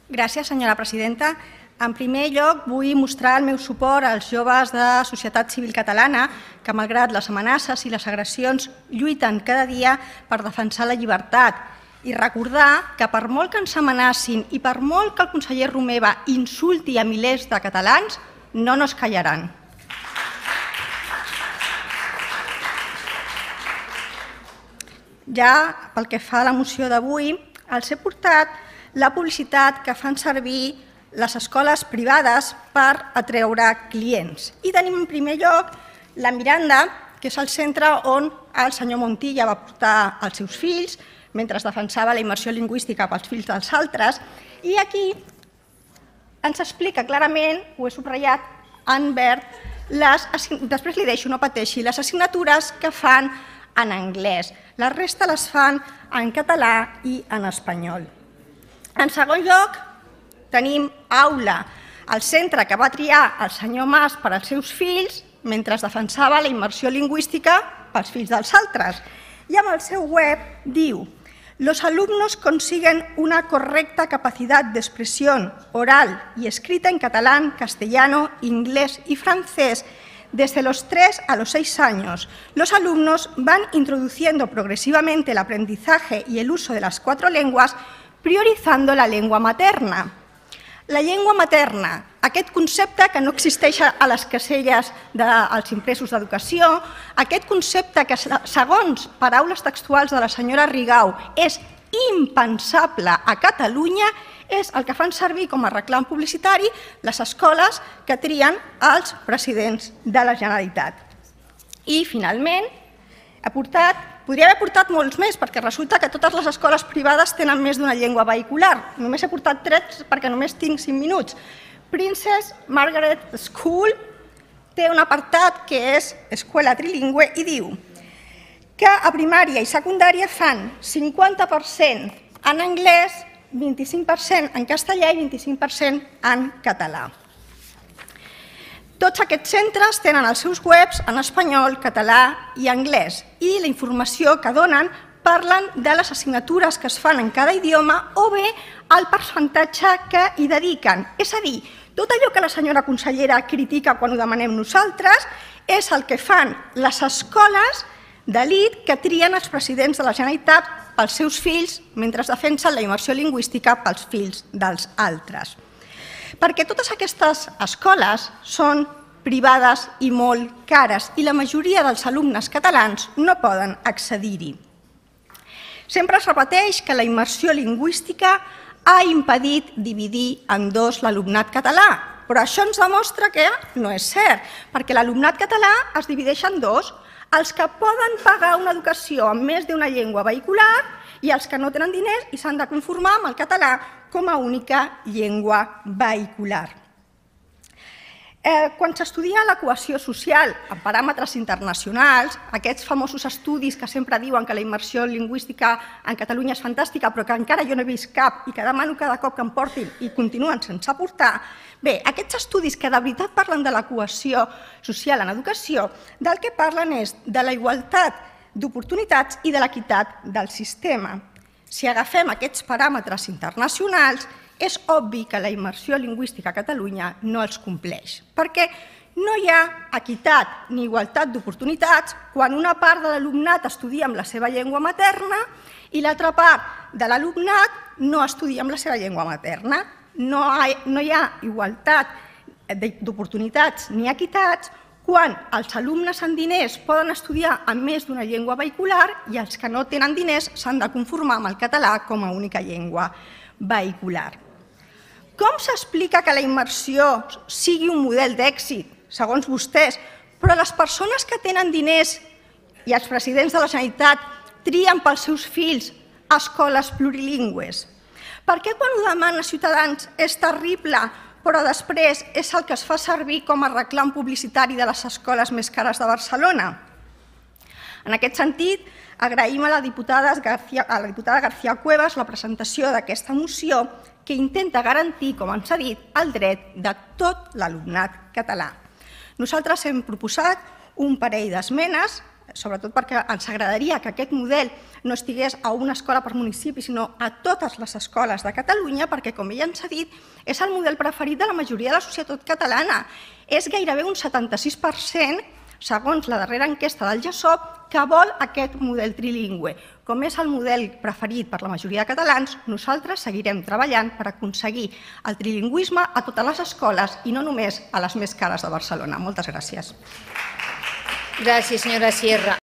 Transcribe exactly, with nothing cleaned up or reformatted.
Gràcies, senyora presidenta. En primer lloc, vull mostrar el meu suport als joves de Societat Civil Catalana que, malgrat les amenaces i les agressions, lluiten cada dia per defensar la llibertat i recordar que, per molt que ens amenacin i per molt que el conseller Romeva insulti a milers de catalans, no nos callaran. Ja pel que fa a la moció d'avui, els he portat la publicitat que fan servir les escoles privades per atreure clients. I tenim en primer lloc la Miranda, que és el centre on el senyor Montilla va portar els seus fills mentre defensava la immersió lingüística pels fills dels altres. I aquí ens explica clarament, ho he subratllat en verd, després li deixo, no pateixi, les assignatures que fan en anglès. La resta les fan en català i en espanyol. En segon lloc, tenim Aula, el centre que va triar el senyor Mas per als seus fills mentre defensava la immersió lingüística pels fills dels altres. I amb el seu web diu: los alumnos consiguen una correcta capacidad de expresión oral y escrita en catalán, castellano, inglés y francés desde los tres a los seis años. Los alumnos van introduciendo progresivamente el aprendizaje y el uso de las cuatro lenguas, priorizando la llengua materna. La llengua materna, aquest concepte que no existeix a les caselles dels impresos d'educació, aquest concepte que, segons paraules textuals de la senyora Rigau, és impensable a Catalunya, és el que fan servir com a reclam publicitari les escoles que trien els presidents de la Generalitat. I, finalment, he portat, podria haver portat molts més, perquè resulta que totes les escoles privades tenen més d'una llengua vehicular. Només he portat tres perquè només tinc cinc minuts. Princess Margaret School té un apartat que és escola trilingüe i diu que a primària i secundària fan cinquanta per cent en anglès, vint-i-cinc per cent en castellà i vint-i-cinc per cent en català. Tots aquests centres tenen els seus webs en espanyol, català i anglès i la informació que donen parlen de les assignatures que es fan en cada idioma o bé el percentatge que hi dediquen. És a dir, tot allò que la senyora consellera critica quan ho demanem nosaltres és el que fan les escoles d'elit que trien els presidents de la Generalitat pels seus fills mentre defensen la immersió lingüística pels fills dels altres. Perquè totes aquestes escoles són privades i molt cares i la majoria dels alumnes catalans no poden accedir-hi. Sempre es repeteix que la immersió lingüística ha impedit dividir en dos l'alumnat català, però això ens demostra que no és cert, perquè l'alumnat català es divideix en dos, els que poden pagar una educació amb més d'una llengua vehicular i els que no tenen diners i s'han de conformar amb el català com a única llengua vehicular. Quan s'estudia la cohesió social en paràmetres internacionals, aquests famosos estudis que sempre diuen que la immersió lingüística en Catalunya és fantàstica però que encara jo no he vist cap i que demano cada cop que em portin i continuen sense aportar, bé, aquests estudis que de veritat parlen de la cohesió social en educació, del que parlen és de la igualtat d'oportunitats i de l'equitat del sistema. Si agafem aquests paràmetres internacionals, és obvi que la immersió lingüística a Catalunya no els compleix, perquè no hi ha equitat ni igualtat d'oportunitats quan una part de l'alumnat estudia amb la seva llengua materna i l'altra part de l'alumnat no estudia amb la seva llengua materna. No hi ha igualtat d'oportunitats ni equitats quan els alumnes amb diners poden estudiar amb més d'una llengua vehicular i els que no tenen diners s'han de conformar amb el català com a única llengua vehicular. Com s'explica que la immersió sigui un model d'èxit, segons vostès, però les persones que tenen diners i els presidents de la Generalitat trien pels seus fills escoles plurilingües? Per què quan ho demana Ciutadans és terrible, però després és el que es fa servir com a reclam publicitari de les escoles més cares de Barcelona? En aquest sentit, agraïm a la diputada García Cuevas la presentació d'aquesta moció que intenta garantir, com ens ha dit, el dret de tot l'alumnat català. Nosaltres hem proposat un parell d'esmenes sobretot perquè ens agradaria que aquest model no estigués a una escola per municipi, sinó a totes les escoles de Catalunya, perquè, com ella ens ha dit, és el model preferit de la majoria de la societat catalana. És gairebé un setanta-sis per cent, segons la darrera enquesta del GESOP, que vol aquest model trilingüe. Com és el model preferit per la majoria de catalans, nosaltres seguirem treballant per aconseguir el trilingüisme a totes les escoles i no només a les més cares de Barcelona. Moltes gràcies. Gràcies, senyora Sierra.